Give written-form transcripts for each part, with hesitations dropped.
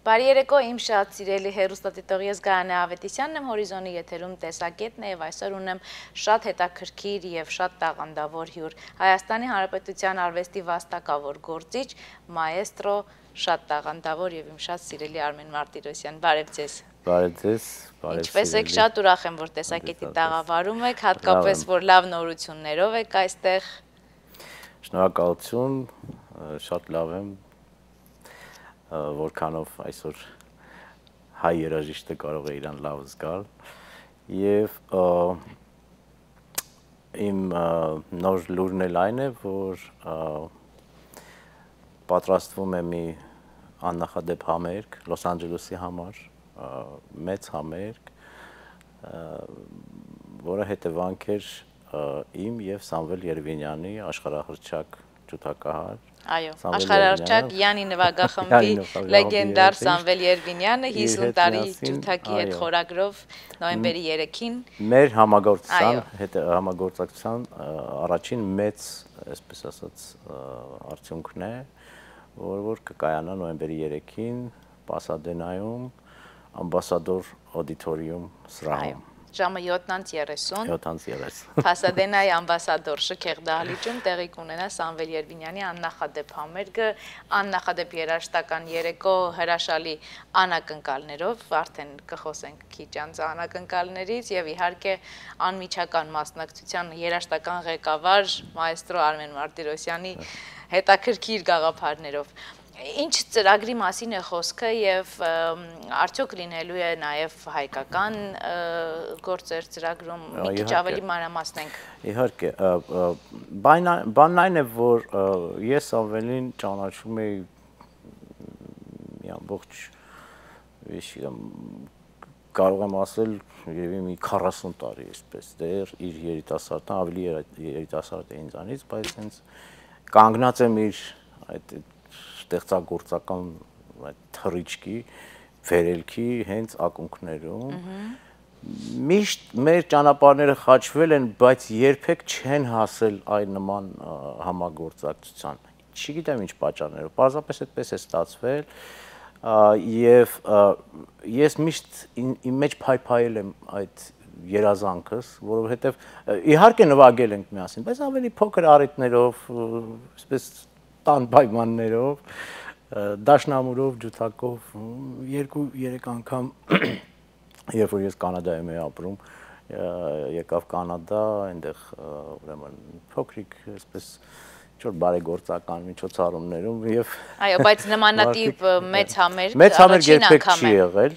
Բարի երեկո, իմ շատ սիրելի հեռուստադիտող ես Գայանե Ավետիսյանն եմ, Հորիզոնի եթերում տեսակետն է, եւ այսօր ունեմ շատ հետաքրքիր եւ շատ տաղանդավոր հյուր, Հայաստանի Հանրապետության արվեստի վաստակավոր գործիչ, մաեստրո, շատ տաղանդավոր եւ իմ շատ սիրելի Արմեն Մարտիրոսյան։ Բարև ձեզ։ Բարև ձեզ, բարև Ինչպես եք, շատ ուրախ եմ, որ տեսակետի տաղավարում եք, հատկապես որ լավ նորություններով եք այստեղ։ Շնորհակալություն, շատ լավ եմ, որքանով այսօր հայ երաժիշտը կարող է իրան լավ զգալ եւ իմ նոր լուրն էլ այն է, որ պատրաստվում է մի աննախադեպ համերգ Լոս Անջելեսի համար, մեծ համերգ, որը հետևանք էր իմ եւ Սամվել Երևինյանի աշխարհահռչակ ջութակահար։ Այո, աշխարհահռչակ Յանի նվագախմբի լեգենդար Սամվել Երևինյանը 50 տարի ջութակի հետ խորագրով նոյեմբերի 3-ին մեր համագործակցության առաջին մեծ, այսպես ասած, արդյունքն է, որ կկայանա նոյեմբերի 3-ին Պասադենայում ամբասադոր օդիտորիում սրահում։ Ժամը 7:30 Պասադենայի ամբասադոր շքեղ դահլիճում տեղի կունենա Սամվել Երևինյանի աննախադեպ համերգը, աննախադեպ երաժշտական երեկո հրաշալի անակնկալներով, արդեն կխոսենք քիչ անց անակնկալներից եւ իհարկե անմիջական մասնակցության երաժշտական ղեկավար մաեստրո Արմեն Մարտիրոսյանի հետաքրքիր գաղափարներով։ Ինչ ծրագրի մասին է խոսքը եւ արդյոք լինելու է նաեւ հայկական գործեր ծրագրում մի քիչ ավելի մանրամասնենք։ Իհարկե, բանն այն է, որ ես Սամվելին ճանաչում եի մի ամբողջ, կարող եմ ասել, երևի մի 40 տարի այսպես, դեռ իր երիտասարդան ավելի երիտասարդ է ինձանից, բայց հենց կանգնած եմ իր այդ ստեղծագործական թռիչքի, վերելքի հենց ակունքներում։ Միշտ մեր ճանապարհները խաչվել են, բայց երբեք չեն հասել այն նման համագործակցության։ Չգիտեմ ինչ պատճառներով, պարզապես այդպես է ստացվել, եւ ես միշտ իմ մեջ փայփայել եմ այդ երազանքս, որովհետեւ իհարկե նվագել ենք միասին, բայց ավելի փոքր առիթներով, այսպես տան պայմաններով, դաշնամուրով, ջութակով, 2-3 անգամ, երբ որ ես Կանադայում էի ապրում, եկավ Կանադա, այնտեղ ուրեմն փոքրիկ, այսպես ինչ-որ բարեգործական միջոցառումներում եւ այո, բայց նմանատիպ մեծ համերգ երբեք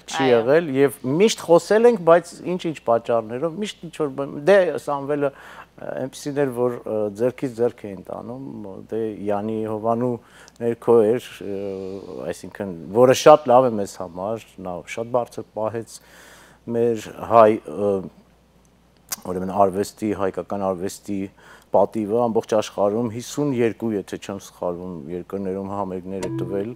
չի եղել եւ միշտ խոսել ենք, բայց ինչ-ինչ պատճառներով միշտ ինչ-որ դե Սամվելը այնպեսին էր, որ ձեռքից ձեռք էին տանում, դե Յանի Հովանու ներքո էր, այսինքն, որը շատ լավ է մեզ համար, նա շատ բարձր պահեց մեր հայ, ուրեմն արվեստի, հայկական արվեստի պատիվը ամբողջ աշխարհում 52, եթե չեմ սխալվում, երկրներում համերգներ է տվել,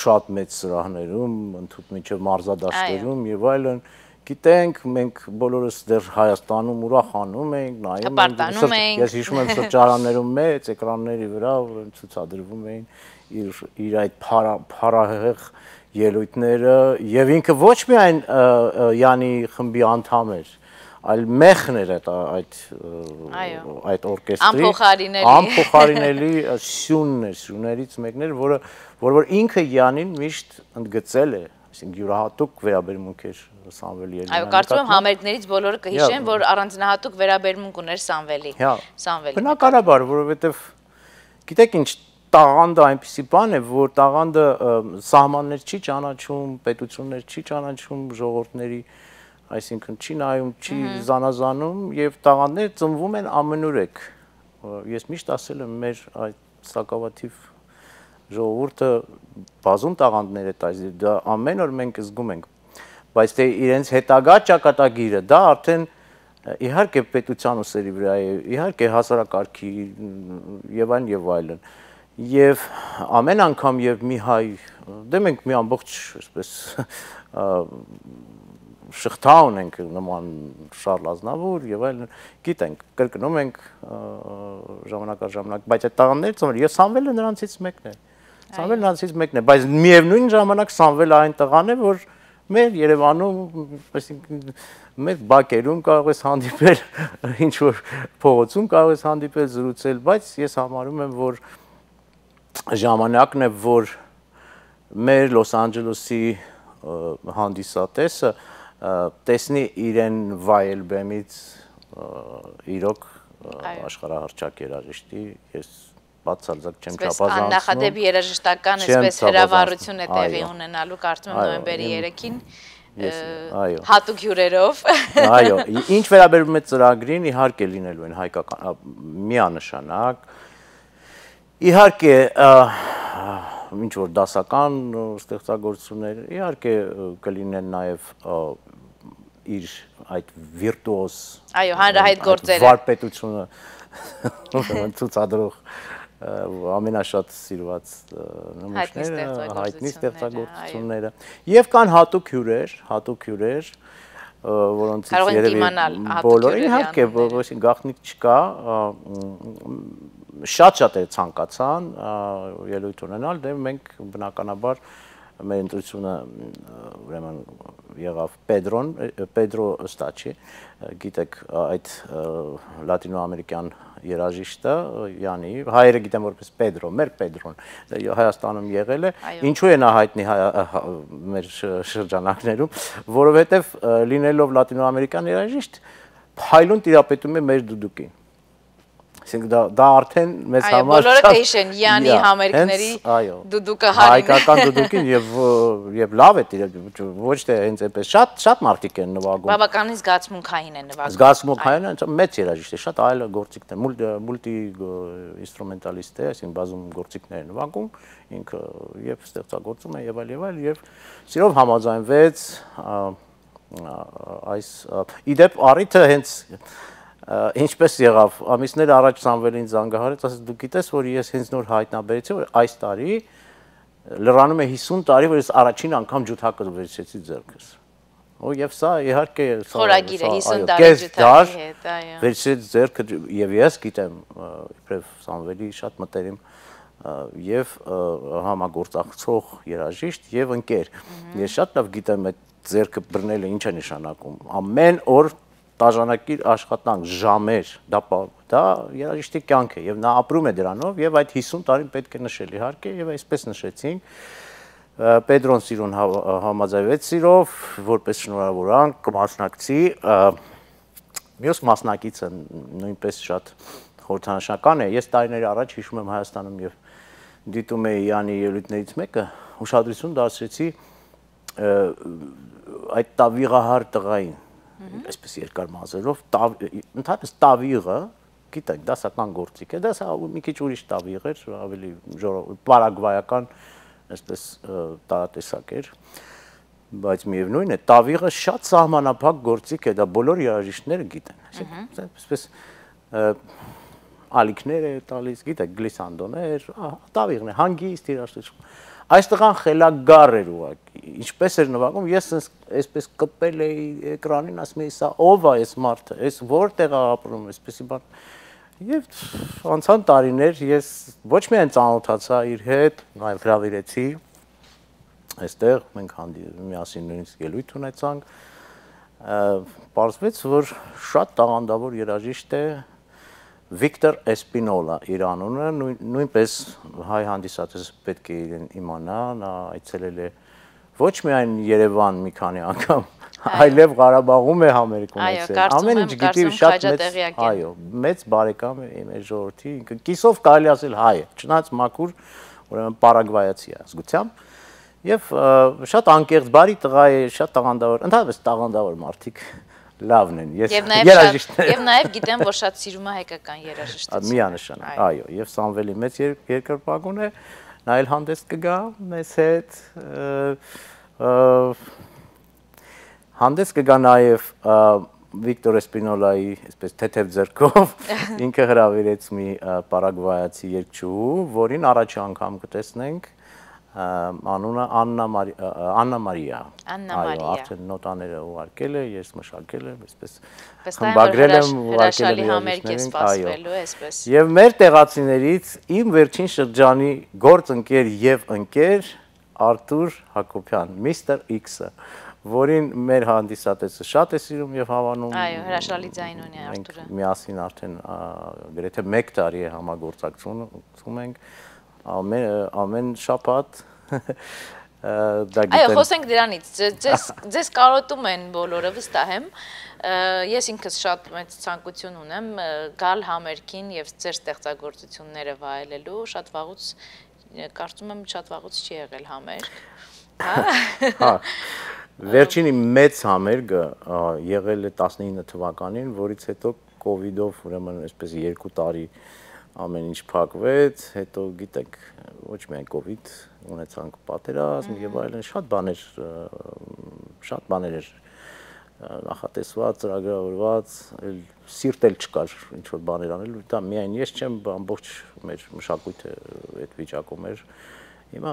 շատ մեծ սրահներում, ընդհանուր մինչև մարզադաշտերում եւ այլն։ Գիտենք, մենք բոլորս դեռ Հայաստանում ուրախանում ենք, նայում ենք, ես հիշում եմ սրճարաններում մեծ էկրանների վրա ցուցադրվում էին իր այդ փառահեղ ելույթները եւ ինքը ոչ միայն Յանի խմբի անդամ էր, այլ մեխն էր այդ օրկեստրի, անփոխարինելի սյունն էր, սյուներից մեկն էր, որ ինքը Յանին միշտ ընդգծել է, այսինքն յուրահատուկ վերաբերմունք էր Սամվել Երևինյանի։ Այո, կարծում եմ համերգներից բոլորը կհիշեն, որ առանձնահատուկ վերաբերմունք ուներ Սամվելի։ Բնականաբար, որովհետև գիտեք ինչ, տաղանդը այնպիսի բան է, որ տաղանդը սահմաններ չի ճանաչում, պետություններ չի ճանաչում, ժողովուրդների, այսինքն չի նայում, չի զանազանում եւ տաղանդները ծնվում են ամենուրեք։ Ես միշտ ասել եմ մեր այդ սակավաթիվ ժողովուրդը բազում տաղանդներ է տալիս, դա ամեն օր մենք զգում ենք, բայց թե իրենց հետագա ճակատագիրը դա արդեն իհարկե պետության ուսերի վրա է, իհարկե հասարակարգի եւ այլն եւ այլն։ Եվ ամեն անգամ եւ մի հայ, դե մենք մի ամբողջ այսպես շղթա ունենք նման Շարլ Ազնավուր եւ այլն, գիտենք, կրկնում ենք ժամանակ առ ժամանակ, բայց այդ տաղանդները ծնվել եւ Սամվելը նրանցից մեկն է։ Սամվելն նրանցից մեկն է, բայց միևնույն ժամանակ Սամվելը այն տղան է, որ մեր Երևանում, այսինքն մեր բակերում կարող ես հանդիպել, ինչ որ փողոցում կարող ես հանդիպել, զրուցել, բայց ես համարում եմ, որ ժամանակն է, որ մեր Լոս Անջելեսի հանդիսատեսը տեսնի իրեն վայել բեմից իրոք աշխարհահռչակ երաժիշտի, ես բացարձակ չեմ չափազանցնում։ Աննախադեպ երաժշտական այսպես հրավառություն է տեղի ունենալու, կարծում եմ նոյեմբերի 3-ին հատուկ հյուրերով։ Այո, ինչ վերաբերում է ծրագրին, իհարկե լինելու են հայկական միանշանակ։ Իհարկե ինչ որ դասական ստեղծագործություններ, իհարկե կլինեն նաև իր այդ վիրտուոզ հանրահայտ գործերը վարպետությունը ցուցադրող ամենաշատ սիրված նմուշները, հայտնի ստեղծագործությունները եւ կան հատուկ հյուրեր, որոնցից երևի բոլորը իհարկե գաղտնիք չկա, շատ է ցանկացան ելույթ ունենալ, դե մենք բնականաբար մեր ընտրությունը ուրեմն եղավ Պեդրո Ստաչի, գիտեք այդ լատինոամերիկյան երաժիշտը, Յանի, հայերը գիտեն որպես Պեդրո, մեր Պեդրոն, Հայաստանում եղել է, ինչու է նա հայտնի մեր շրջանակներում, որովհետև լինելով լատինոամերիկյան երաժիշտ, փայլուն տիրապետում է մեր դուդուկին։ Դա արդեն մեզ համար բոլորը կհիշեն Յանի համերգների դուդուկը հայկական դուդուկին եւ լավ է ոչ թե հենց այնպես շատ մարդիկ են նվագում բավականին զգացմունքային են նվագում զգացմունքային են մեծ երաժիշտ է շատ այլ գործիքներ մուլտի ինստրումենտալիստ է այսինքն բազում գործիքներ են նվագում ինքը եւ ստեղծագործում է եւ այլ եւ սիրով համաձայնվեց այս իդեպ առիթը հենց Ինչպես եղավ, ամիսներ առաջ Սամվելին զանգահարեց, ասեց դու գիտես, որ ես հենց նոր հայտնաբերեցի, որ այս տարի լրանում է 50 տարի, որ ես առաջին անգամ ջութակը վերցրեցի ձեռքս։ Եվ սա իհարկե խորագիր է 50 տարի ջութակի հետ, այո։ Վերցրեց ձեռքը եւ ես գիտեմ, իբրև Սամվելի շատ մտերիմ եւ համագործակցող երաժիշտ եւ ընկեր։ Ես շատ լավ գիտեմ այդ ձեռքը բռնելը ինչ է նշանակում։ Ամեն օր տաժանակիր աշխատանք, ժամեր, դա երաժիշտի կյանք է եւ նա ապրում է դրանով եւ այդ 50 տարին պետք է նշել իհարկե եւ այսպես նշեցինք Պեդրոն Սիրուն համաձայնվեց սիրով որպես շնորհավորանք կմասնակցի մյուս մասնակիցը նույնպես շատ խորհրդանշական է ես տարիներ առաջ հիշում եմ Հայաստանում եւ դիտում էի Յանի ելույթներից մեկը ուշադրություն դարձրեցի այդ տավիղահար տղային այսպես երկար մազերով, ընդհանրապես տավիղը, գիտեք, դասական գործիք է, դա մի քիչ ուրիշ տավիղ էր, ավելի պարագվայական, այսպես տարատեսակ էր, բայց միևնույն է, տավիղը շատ սահմանափակ գործիք է, դա բոլոր երաժիշտները գիտեն, այսպես ալիքներ է տալիս, գիտեք, գլիսանդոներ, տավիղն է, հանգիստ երաժշտություն Այս տղան խելագար էր ուղղակի, ինչպես էր նվագում, ես այսպես կպել էի էկրանին, ասում էի, սա ով է այս մարդը, այս որտեղ է ապրում, այսպեսի բան։ Եվ անցան տարիներ ես ոչ միայն ծանոթացա իր հետ, նաև հրավիրեցի, այստեղ մենք միասին նույնիսկ ելույթ ունեցանք, պարզվեց, որ շատ տաղանդավոր երաժիշտ է, Վիկտոր Էսպինոլա իր անունը նույնպես հայ հանդիսատես պետք է իրեն իմանա, նա այցելել է ոչ միայն Երևան մի քանի անգամ, այլև Ղարաբաղում է համերգ ունեցել։ Ամեն ինչ գիտի շատ մեծ, այո, մեծ բարեկամ է մեր ժողովրդի, կիսով կարելի ասել հայ է, չնայած մաքուր, ուրեմն պարագվայացի է ազգությամբ, եւ շատ անկեղծ բարի տղա է, շատ տաղանդավոր, ընդհանրապես տաղանդավոր մարդիկ լավն են, ես երաժիշտներ։ Եվ նաև գիտեմ, որ շատ սիրում է հայկական երաժշտություն։ Միանշանակ, այո, եւ Սամվելի մեծ երկրպագուն է, նա էլ հանդես կգա մեզ հետ, հանդես կգա նաև Վիկտոր Էսպինոլայի, այսպես թեթև ձեռքով, ինքը հրավիրեց մի պարագվայացի երգչուհու, որին առաջի անգամ կտեսնենք, անունը Աննա Մարիա։ Այո, արդեն նոտաները ուղարկել է, ես մշակել եմ, այսպես խմբագրել եմ, հրաշալի համերգ է սպասվելու, այսպես։ Եվ մեր տեղացիներից իմ վերջին շրջանի գործընկեր եւ ընկեր Արթուր Հակոբյան, Mr. X-ը, որին մեր հանդիսատեսը շատ է սիրում եւ հավանում։ Այո, հրաշալի ձայն ունի Արթուրը։ Միասին արդեն գրեթե 1 տարի է համագործակցում ենք։ Ամեն շաբաթ Այո, խոսենք դրանից, ձեզ կարոտում են բոլորը, վստահ եմ, ես ինքս շատ մեծ ցանկություն ունեմ գալ համերգին եւ ձեր ստեղծագործությունները վայելելու, շատ վաղուց, կարծում եմ շատ վաղուց չի եղել համերգ, հա։ Վերջին իմ մեծ համերգը եղել է 19 թվականին, որից հետո կովիդով ուրեմն այսպես 2 տարի ամեն ինչ փակվեց, հետո գիտեք, ոչ միայն կովիդ, ունեցանք պատերազմ եւ այլն, շատ բաներ էր նախատեսված, ծրագրավորված, սիրտ էլ չկար ինչ որ բաներ անել, դա միայն ես չեմ, ամբողջ մեր մշակույթը այդ վիճակում էր։ Հիմա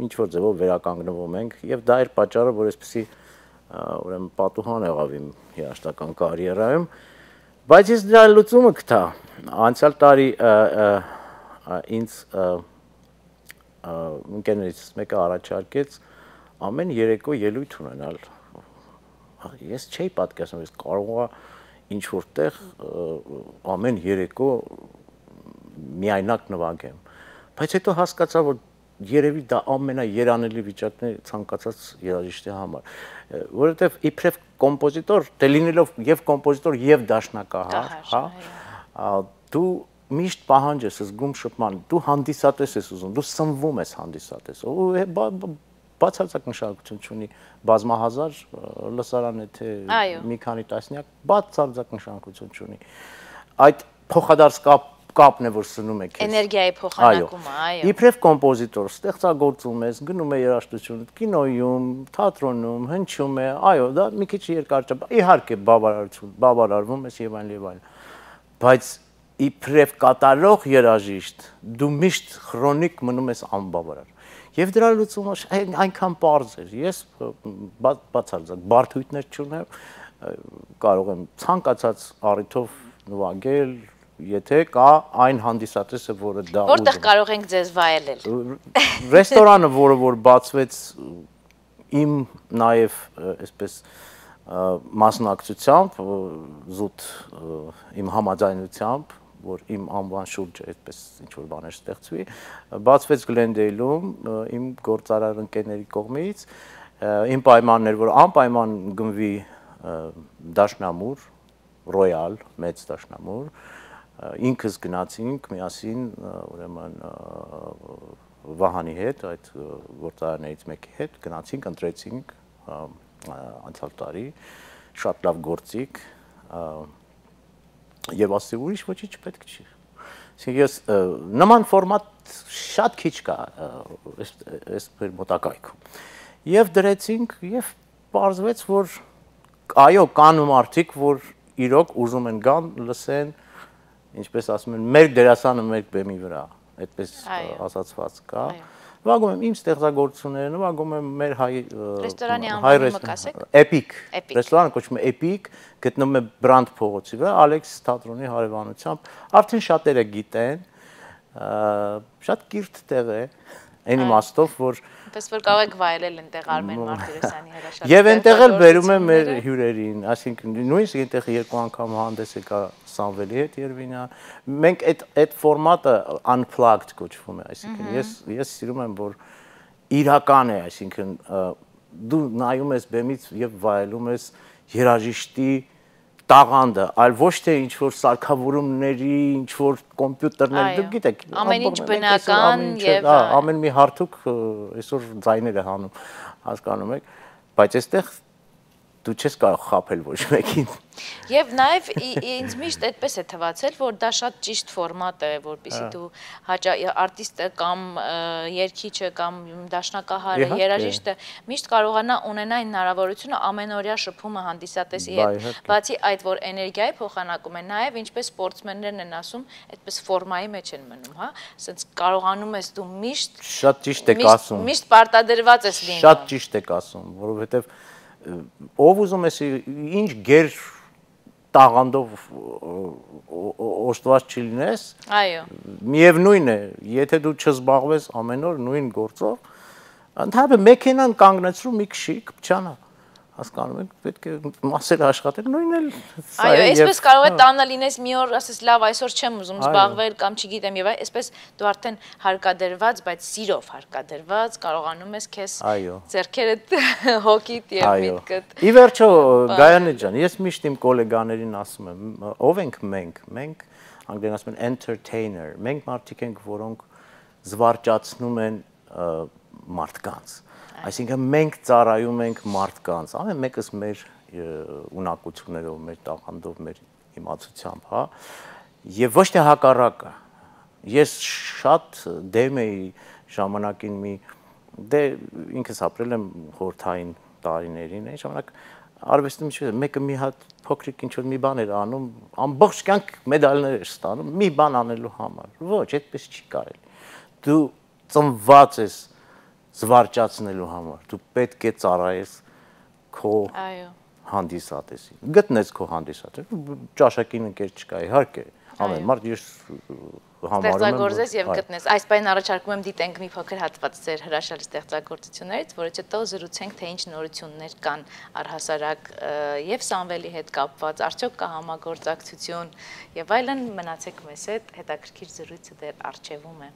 ինչ որ ձևով վերականգնվում ենք եւ դա էր պատճառը, որ այսպեսի ուրեմն պատուհան եղավ իմ երաժշտական կարիերայում, բայց ես դրա լուծումը գտա։ Անցյալ տարի ինձ ընկերներից մեկը առաջարկեց ամեն երեկո ելույթ ունենալ։ Ես չէի պատկերացնում, ես կարող եմ ինչ որտեղ ամեն երեկո միայնակ նվագեմ։ Բայց հետո հասկացա, որ երևի դա ամենաերանելի վիճակն է ցանկացած երաժիշտի համար, որովհետև իբրև կոմպոզիտոր, դե լինելով եւ կոմպոզիտոր եւ դաշնակահար, հա, դու միշտ պահանջ ես զգում շփման, դու հանդիսատես ես ուզում, դու սնվում ես հանդիսատես, բացարձակ նշանակություն չունի բազմահազար լսարան է թե մի քանի տասնյակ, բացարձակ նշանակություն չունի։ Այդ փոխադարձ կապն է, որ սնում է քեզ։ Էներգիայի փոխանակումը, այո։ Իբրև կոմպոզիտոր ստեղծագործում ես, գնում է երաժշտություն, կինոյում, թատրոնում, հնչում է, այո, դա մի քիչ երկար չէ, իհարկե բավարարվում ես եւ այլն։ Բայց իբրև կատարող երաժիշտ, դու միշտ քրոնիկ մնում ես անբավարար։ Եվ դրա լուծումը այնքան պարզ էր։ Ես բացարձակ բարդույթներ չունեմ, կարող եմ ցանկացած առիթով նվագել, եթե կա այն հանդիսատեսը, որը դա ուզում է։ Որտեղ կարող ենք ձեզ վայելել։ Ռեստորանը, որ բացվեց իմ նաև այսպես մասնակցությամբ, զուտ իմ համաձայնությամբ, որ իմ անվան շուրջ այդպես ինչ-որ բաներ ստեղծվի, բացվեց Գլենդեյլում իմ գործարար ընկերների կողմից, իմ պայմաններ, որ անպայման գնվի դաշնամուր, ռոյալ, մեծ դաշնամուր, ինքս գնացինք միասին ուրեմն Վահանի հետ, այդ գործարարներից մեկի հետ, գնացինք, ընտրեցինք անցյալ տարի, շատ լավ գործիք, եւ ասի ուրիշ ոչինչ պետք չի։ Ես նման ֆորմատ շատ քիչ կա այս մոտակայքում։ Եվ դրեցինք եւ պարզվեց, որ այո, կան մարդիկ, որ իրոք ուզում են գան, լսեն, ինչպես ասում են, մեր դերասանը մեր բեմի վրա, այդպես ասացված կա։ Նվագում եմ իմ ստեղծագործությունները, նվագում եմ մեր ռեստորանի անվանը մկասեք։ Էպիկ։ Ռեստորանը կոչվում է Էպիկ, գտնվում է Բրանդ փողոցի վրա, Ալեքս թատրոնի հարևանությամբ։ Արդեն շատերը գիտեն, շատ կիրթ տեղ է, այն իմաստով, որ Պես որ կարող եք վայելել այնտեղ Արմեն Մարտիրոսյանի հրաշալի։ Եվ այնտեղ էլ բերում եմ մեր հյուրերին, այսինքն նույնիսկ այնտեղ 2 անգամ հանդես եկա Սամվելի հետ Երևանյան։ Մենք այդ ֆորմատը unplugged կոչվում է, այսինքն ես սիրում եմ, որ իրական է, այսինքն դու նայում ես բեմից եւ վայելում ես երաժիշտի տաղանդը, այլ ոչ թե ինչ որ սարքավորումների, ինչ որ կոմպյուտերներ, դուք գիտեք, ամեն ինչ բնական եւ ամեն մի հարթուկ այսօր ձայներ է հանում, հասկանում եք, բայց այստեղ դու չես կարող խաբել ոչ մեկին։ Եվ նաև ինձ միշտ այդպես է թվացել, որ դա շատ ճիշտ ֆորմատ է, որպեսզի դու արտիստը կամ երգիչը կամ դաշնակահարը, երաժիշտը միշտ կարողանա ունենա այն հնարավորությունը ամենօրյա շփումը հանդիսատեսի հետ, բացի այդ, որ էներգիայի փոխանակում է, նաև ինչպես սպորտսմեններն են ասում, այդպես ֆորմայի մեջ են մնում, հա, ասենց կարողանում ես դու միշտ շատ ճիշտ եք ասում, միշտ պարտադրված ես լինում։ Շատ ճիշտ եք ասում, որովհետև ով ուզում ես ինչ գեր տաղանդով օժտված չլինես, այո, միևնույն է, եթե դու չզբաղվես ամեն օր նույն գործով, ընդհանրապես մեքենան կանգնեցրու մի քշի, կփչանա, հասկանում եք, պետք է մասեր աշխատել, նույնն էլ այո, այսպես կարող է տանը լինես մի օր, ասես լավ, այսօր չեմ ուզում զբաղվել կամ չգիտեմ եւ այսպես դու արդեն հարկադրված, բայց սիրով հարկադրված կարողանում ես քեզ ձեռքերդ հոգիդ եւ միտքդ։ Ի վերջո, Գայանե ջան, ես միշտ իմ գոլեգաներին ասում եմ, ով ենք մենք անգլերեն ասում են entertainer, մենք մարդիկ ենք, որոնք զվարճացնում են մարդկանց։ Այսինքն մենք ծառայում ենք մարդկանց, ամեն մեկս մեր ունակություններով, մեր տաղանդով, մեր իմացությամբ, հա, եւ ոչ թե հակառակը։ Ես շատ դեմ էի ժամանակին դե ինքս ապրել եմ խորհրդային տարիներին, այն ժամանակ արվեստում ինչ մեկը մի հատ փոքրիկ ինչ-որ մի բան էր անում, ամբողջ կյանք մեդալներ էր ստանում, մի բան անելու համար։ Ոչ, այդպես չի կարելի։ Դու ծնված ես զվարճացնելու համար, դու պետք է ծառայես քո հանդիսատեսին, գտնես քո հանդիսատեսին, ճաշակին ընկեր չկա, իհարկե, ամեն մարդ ես համարում եմ ստեղծագործես եւ գտնես, այս բանին առաջարկում եմ դիտենք մի փոքր հատված ձեր հրաշալի ստեղծագործություններից, որից հետո զրուցենք, թե ինչ նորություններ կան առհասարակ եւ Սամվելի հետ կապված, արդյոք կա համագործակցություն եւ այլն, մնացեք մեզ հետ, հետաքրքիր զրույցը դեռ առջևում է։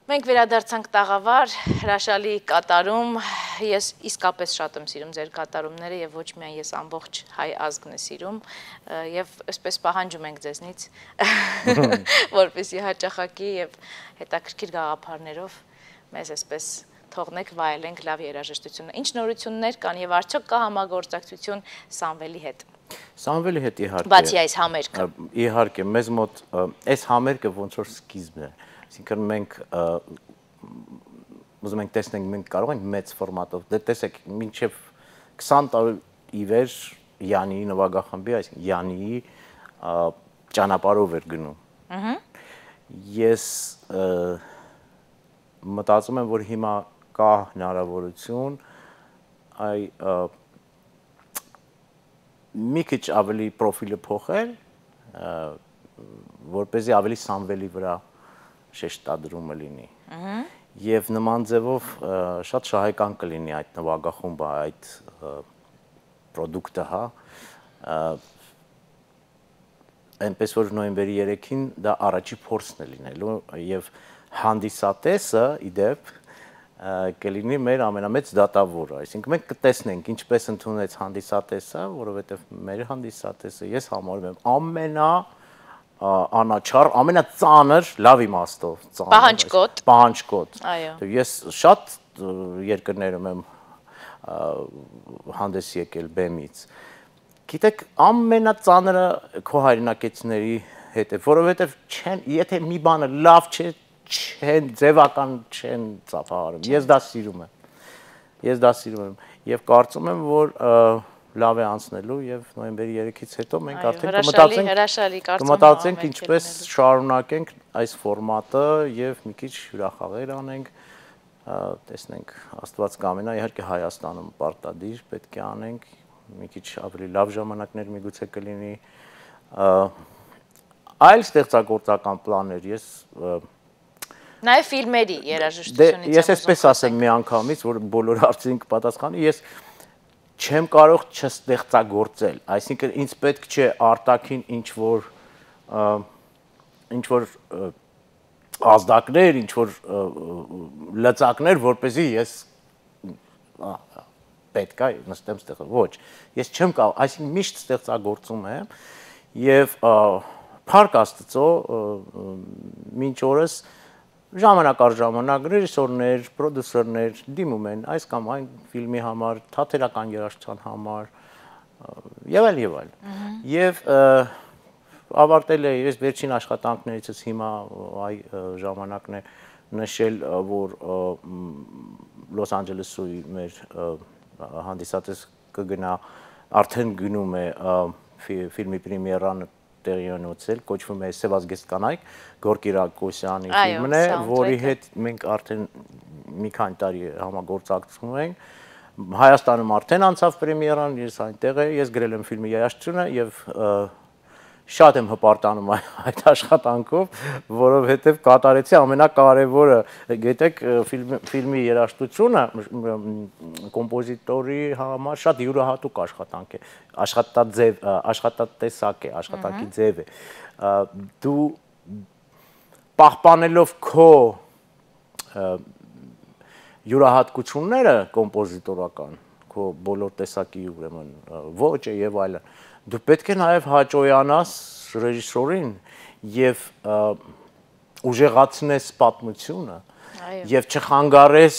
Մենք վերադարձանք տաղավար, հրաշալի կատարում, ես իսկապես շատ եմ սիրում ձեր կատարումները և ոչ միայն ես ամբողջ հայ ազգն է սիրում և այսպես պահանջում ենք ձեզնից, որպեսզի հաճախակի և հետաքրքիր գաղափարներով մեզ այսպես թողնեք վայելենք լավ երաժշտությունը։ Ինչ նորություններ կան և արդյոք կա համագործակցություն Սամվելի հետ։ Սամվելի հետ իհարկե։ Բացի այս համերգը։ Իհարկե, մեզ մոտ այս համերգը ոնց որ սկիզբն է։ Այսինքն մենք ուզում ենք տեսնենք մենք կարող ենք մեծ ֆորմատով։ Դե տեսեք, մինչև 20 տարի ի վեր Յանիի նվագախմբի, այսինքն Յանիի ճանապարհով էր գնում։ Ես մտածում եմ, որ հիմա կա հնարավորություն մի քիչ ավելի պրոֆիլը փոխել, որպեսզի ավելի Սամվելի վրա շեշտադրումը լինի։ Եվ նման ձևով շատ շահեկան կլինի այդ նվագախումբը, այդ պրոդուկտը, հա։ Այնպես որ նոյեմբերի 3-ին դա առաջի փորձն է լինելու եւ հանդիսատեսը իդեպ կլինի մեր ամենամեծ դատավորը, այսինքն մենք կտեսնենք ինչպես ընդունեց հանդիսատեսը, որովհետև մեր հանդիսատեսը ես համարում եմ անաչառ, ամենածանր, լավ իմաստով, պահանջկոտ։ Ես շատ երկրներում եմ հանդես եկել բեմից։ Գիտեք, ամենածանրը քո հայրենակիցների հետ է, որովհետև եթե մի բանը լավ չէ, ձևական չեն ծափահարում։ Ես դա սիրում եմ եւ կարծում եմ, որ լավ է անցնելու եւ նոյեմբերի 3-ից հետո մենք արդեն կմտածենք ինչպես շարունակենք այս ֆորմատը եւ մի քիչ հյուրախաղեր անենք, տեսնենք, Աստված կամենա, իհարկե Հայաստանում պարտադիր պետք է անենք, մի քիչ ավելի լավ ժամանակներ միգուցե կլինի, այլ ստեղծագործական պլաններ ես Նաև ֆիլմերի երաժշտությունից ես այսպես ասեմ մի անգամից, որ բոլոր հարցին կպատասխանի, ես չեմ կարող չստեղծագործել, այսինքն ինձ պետք չէ արտաքին ինչ-որ ազդակներ, ինչ-որ լծակներ, որպեսզի ես պետք է նստեմ ստեղծել, ոչ, ես չեմ կարող, այսինքն միշտ ստեղծագործում եմ եւ փառք Աստծո մինչ օրս ժամանակ առ ժամանակ ռեժիսորներ, պրոդյուսերներ դիմում են այս կամ այն ֆիլմի համար, թատերական երաժշտության համար եւ այլ։ Եվ ավարտել է ես վերջին աշխատանքներիցս հիմա այ ժամանակն է նշել, որ Լոս Անջելեսի մեր հանդիսատես կգնա, արդեն գնում է ֆիլմի պրեմիերան տեղի ունեցել, կոչվում է Սևազգեստ կանայք, Գորկի Ռակոսյանի ֆիլմն է, որի հետ մենք արդեն մի քանի տարի համագործակցում ենք։ Հայաստանում արդեն անցավ պրեմիերան, ես այնտեղ եմ, ես գրել եմ ֆիլմի երաժշտությունը եւ շատ եմ հպարտանում այդ աշխատանքով, որովհետև կատարեցի ամենակարևորը, գիտեք, ֆիլմի երաժշտությունը կոմպոզիտորի համար շատ յուրահատուկ աշխատանք է, աշխատատեսակ է, աշխատանքի ձև է։ Դու պահպանելով քո յուրահատկությունները կոմպոզիտորական, քո բոլոր տեսակի ուրեմն ոճը եւ այլն, դու պետք է նաև հաճոյանաս ռեժիսորին եւ ուժեղացնես պատմությունը եւ չխանգարես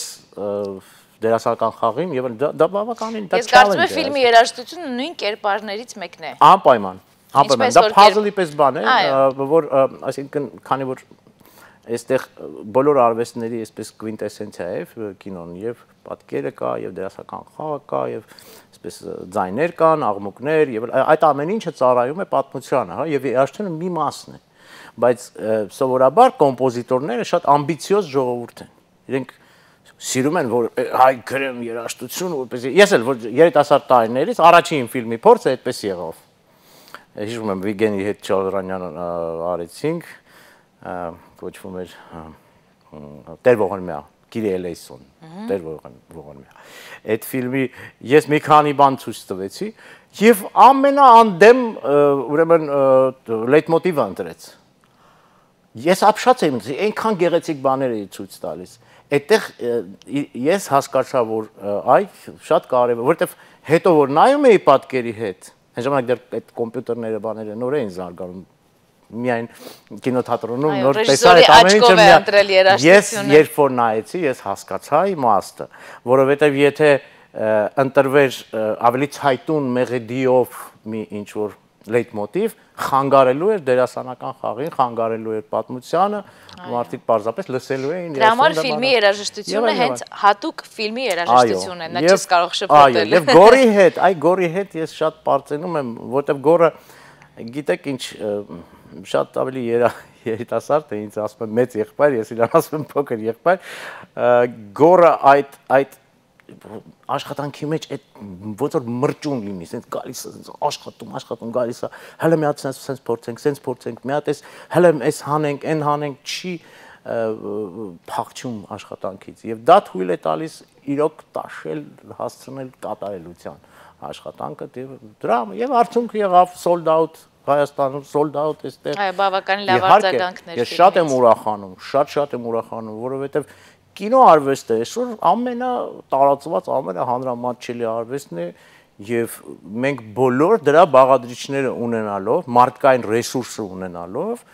դերասանական խաղին եւ դա բավականին դա Ես կարծում եմ ֆիլմի երաժշտությունը նույն կերպարներից մեկն է։ Անպայման, դա puzzle-ի պես բան է, որ այսինքն քանի որ այստեղ բոլոր արվեստների այսպես կվինտեսենցիա է կինոն եւ պատկերը կա եւ դերասանական խաղը կա եւ այսպես ձայներ կան, աղմուկներ եւ այդ ամեն ինչը ծառայում է պատմությանը, հա, եւ երաժշտությունը մի մասն է, բայց սովորաբար կոմպոզիտորները շատ ամբիցիոզ ժողովուրդ են։ Իրենք սիրում են, որ հայ գրեմ երաժշտություն, որպեսզի ես էլ որ երիտասարդ տարիներից առաջին ֆիլմի փորձը այդպես եղավ։ Հիշում եմ Վիգենի հետ Չալրանյան արեցինք, կոչվում էր Տեր Ողորմյա, Կիրի Էլեյսոն, Տեր Ողորմյա։ Այդ ֆիլմի ես մի քանի բան ցույց տվեցի եւ ամենաանդեմ ուրեմն լեյտմոտիվը ընտրեց։ Ես ապշած եմ, այնքան գեղեցիկ բաներ էի ցույց տալիս։ Այդտեղ ես հասկացա, որ այ շատ կարևոր, որովհետեւ հետո որ նայում էի պատկերի հետ, այն ժամանակ դեռ այդ կոմպյուտերները բաները նոր էին զարգանում, միայն կինոթատրոնում նոր տեսա այդ ամեն ինչը։ Ես երբ որ նայեցի, ես հասկացա իմաստը, որովհետև եթե ընտրվեր ավելի ցայտուն մեղեդիով մի ինչ-որ լեյտմոտիվ, խանգարելու էր դերասանական խաղին, խանգարելու էր պատմությանը, մարդիկ պարզապես լսելու էին։ Դրա համար ֆիլմի երաժշտությունը հենց հատուկ ֆիլմի երաժշտությունն է, նա չես կարող շփոթել։ Այո, եւ Գորի հետ ես շատ պարծենում եմ, որտեվ Գորը, գիտեք ինչ, շատ ավելի երիտասարդ է, ինձ ասում են մեծ եղբայր, ես իրան ասում եմ փոքր եղբայր, Գորը այդ աշխատանքի մեջ այդ ոնց որ մրճուն լինի, sense գալիս է, աշխատում գալիս է, հələ մի հատ sense փորձենք, մի հատ էս հələ էս հանենք, այն հանենք, չի փախչում աշխատանքից եւ դա թույլ է տալիս իրոք տաշել, հասցնել կատարելության աշխատանքը դրա եւ արդյունքը եղավ sold out Հայաստանում sold out էստեղ։ Այո, բավական լավ արձագանքներ։ Ես շատ եմ ուրախանում, շատ եմ ուրախանում, որովհետեւ կինո արվեստը այսօր ամենատարածված, ամենահանրամատչելի արվեստն է եւ մենք բոլոր դրա բաղադրիչները ունենալով, մարդկային ռեսուրսը ունենալով,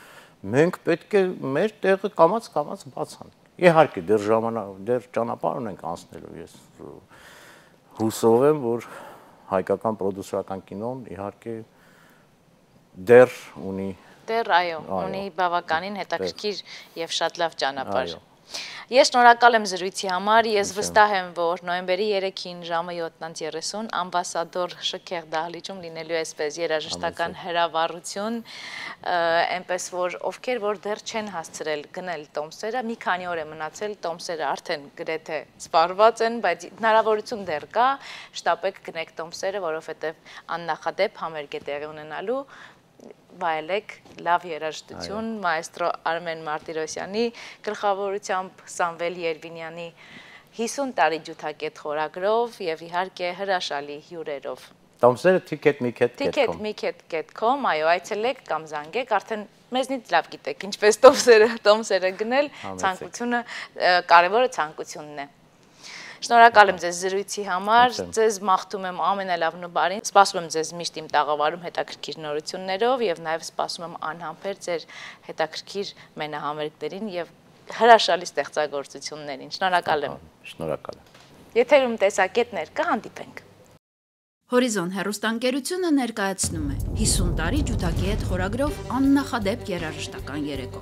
մենք պետք է մեր տեղը կամաց բացանք։ Իհարկե դեռ ճանապարհ ունենք անցնելու, ես հուսով եմ, որ հայկական պրոդյուսերական կինոն իհարկե դեռ ունի բավականին հետաքրքիր եւ շատ լավ ճանապարհ։ Ես շնորհակալ եմ զրույցի համար, ես վստահ եմ, որ նոյեմբերի 3-ին ժամը 7:30 ամբասադոր Շքեղ դահլիճում լինելու է այսպես երաժշտական հրավառություն, այնպես որ ովքեր որ դեռ չեն հասցրել գնել տոմսերը, մի քանի օր է մնացել, տոմսերը արդեն գրեթե սպառված են, բայց հնարավորություն դեռ կա, շտապեք գնեք տոմսերը, որովհետև աննախադեպ համերգ է տեղի ունենալու, վայելեք լավ երաժշտություն մայստրո Արմեն Մարտիրոսյանի գլխավորությամբ Սամվել Երվինյանի 50 տարի ջութակետ խորագրով եւ իհարկե հրաշալի հյուրերով։ Տոմսերը ticketmiket.com, այո, այցելեք կամ զանգեք, արդեն մեզնից լավ գիտեք ինչպես տոմսերը գնել, ցանկությունը կարևորը ցանկությունն է։ Շնորհակալ եմ ձեզ զրույցի համար, ձեզ մաղթում եմ ամենալավն ու բարին, սպասում եմ ձեզ միշտ իմ տաղավարում հետաքրքիր նորություններով եւ նաեւ սպասում եմ անհամբեր ձեր հետաքրքիր մենահամերգներին եւ հրաշալի ստեղծագործություններին։ Շնորհակալ եմ։ Շնորհակալ եմ։ Եթերում տեսակետներ կհանդիպենք։ Հորիզոն հեռուստաընկերությունը ներկայացնում է 50 տարի ջութակի հետ խորագրով աննախադեպ երաժշտական երեկո։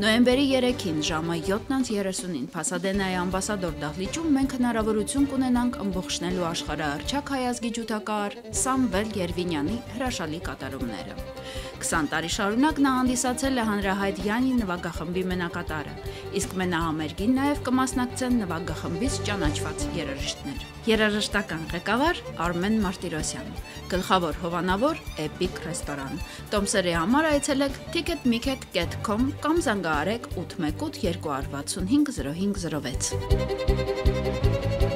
Նոյեմբերի 3-ին ժամը 7:30-ին Փասադենայի ամբասադոր դահլիճում մենք հնարավորություն կունենանք ըմբողջնելու աշխարհահռչակ հայազգի ջութակահար Սամվել Երվինյանի հրաշալի կատարումները։ 20 տարի շարունակ նա հանդիսացել է հանրահայտ Յանի նվագախմբի մենակատարը, իսկ մենահամերգին նաև կմասնակցեն նվագախմբից ճանաչված երաժիշտներ։ Երաժշտական ղեկավար Արմեն Մարտիրոսյան, գլխավոր հովանավոր Էպիկ ռեստորան։ Տոմսերի համար այցելեք ticketmiket.com կամ զանգահարեք 818 265 0506։